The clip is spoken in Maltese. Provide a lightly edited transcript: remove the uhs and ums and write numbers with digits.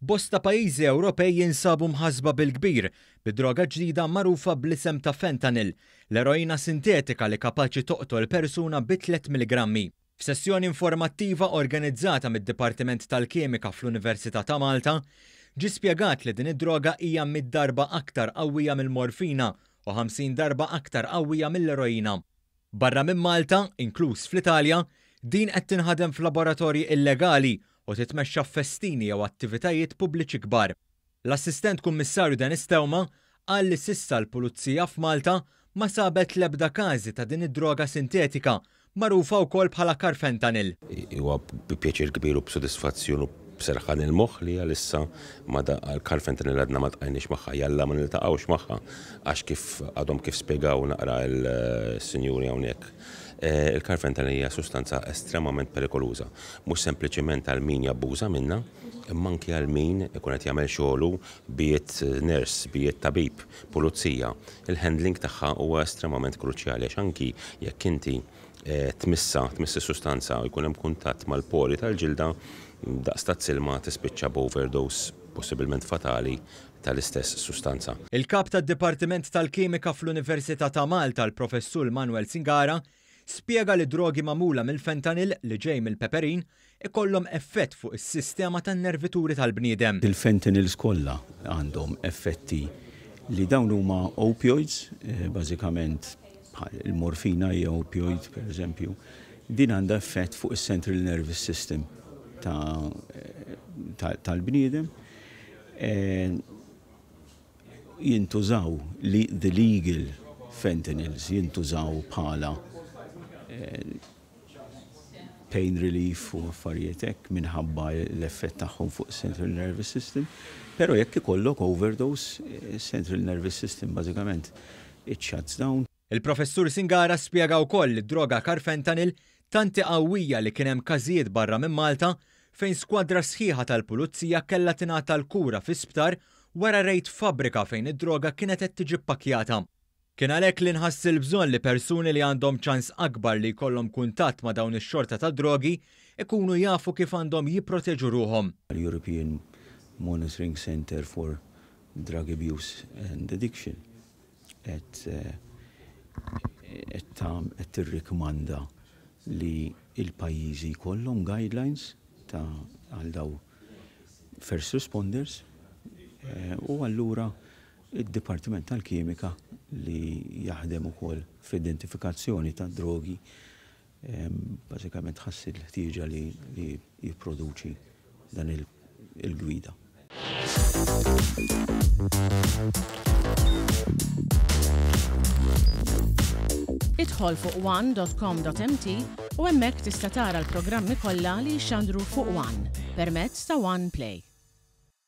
Bosta pajjiżi Ewropej jinsabu mħassba bil-kbir bi droga ġdida magħrufa bl-isem ta' fentanyl, l-eroina sintetika li kapaċi toqtol persuna bi tlett milligrammi. F'sessjoni informattiva organizzata mid-Dipartiment tal-Kimika fl-Università ta' Malta, ġie spjegat li din id-droga hija mitt darba aktar qawwija mill-morfina u 50 darba aktar qawwija mill-eroina. Barra minn Malta, inkluż fl-Italja, din qed tinħadem f'laboratorji illegali u titmexxa f'festini jew attivitajiet pubbliċi kbar. L-Assistent Kummissarju Dennis Theuma qal li s'issa l-Pulizija f'Malta ma sabet l-ebda każi ta' din id-droga sintetika, magħrufa wkoll bħala carfentanil. Huwa bi pjaċir kbir u b'sodisfazzjon u b'serħan il-moħħ li għalissa ma l-carfentanil għadna ma ltqajniex magħha, jalla ma niltaqgħux magħha għax kif għadhom kif spjegaw naqra l-sinjuri hawnhekk, il-carfentanil hija sustanza estremament perikoluża, mhux sempliċement għal min jabbuża minnha, imma anki għal min ikun qed jagħmel xogħlu, be it nurse, be it tabib, pulizija. Il-handling tagħha huwa estremament kruċjali għax anki jekk inti tmissha, tmiss is-sustanza u jkun hemm kuntatt mal-pori tal-ġilda, daqs tazz ilma tispiċċa b'overdose possibilment fatali tal-istess sustanza. Il-Kap tad-Dipartiment tal-Kimika fl-Università ta' Malta, l-Professur Manuel Zingara, spjega li drogi magħmula mill-fentanyl li ġej mill-peperin ikollhom effett fuq is-sistema tan-nervituri tal-bniedem. Il-fentanyls kollha għandhom effetti li dawn huma opioids, bażikament bħal il-morfina hija opioid pereżempju, din għandha effett fuq is-central nervous system tal-bniedem. Jintużaw li the legal fentanyls jintużaw bħala pain relief u affarijiet hekk minħabba l-effett tagħhom fuq central nervous system. Però jekk ikollok overdose, central nervous system bażikament it shuts down. Il-Professur Singara spjega wkoll li d-droga carfentanil tant hi qawwija li kien hemm każijiet barra minn Malta fejn skwadra sħiħa tal-Pulizija kellha tingħata l-kura fi sptar wara rejd f'fabbrika fejn id-droga kienet qed tiġi ppakkjata. Kien għalhekk li nħass il-bżonn li persuni li għandhom ċans akbar li jkollhom kuntatt ma' dawn ix-xorta ta' drogi ikunu jafu kif għandhom jipproteġu ruħhom. L-European Monitoring Centre for Drug Abuse and Addiction qed qed tirrikmanda li l-pajjiżi jkollhom guidelines ta' għal daw first responders u allura id-Dipartiment tal-Kimika li jaħdem ukoll fl-identifikazzjoni tad-drogi Bażikament ħass il-ħtieġa li jipproduċi dan il-gwida. Idħol fuq one.com.mt u hemmhekk tista' tara l-programmi kollha li jixxandru fuq One permezz ta' One Play.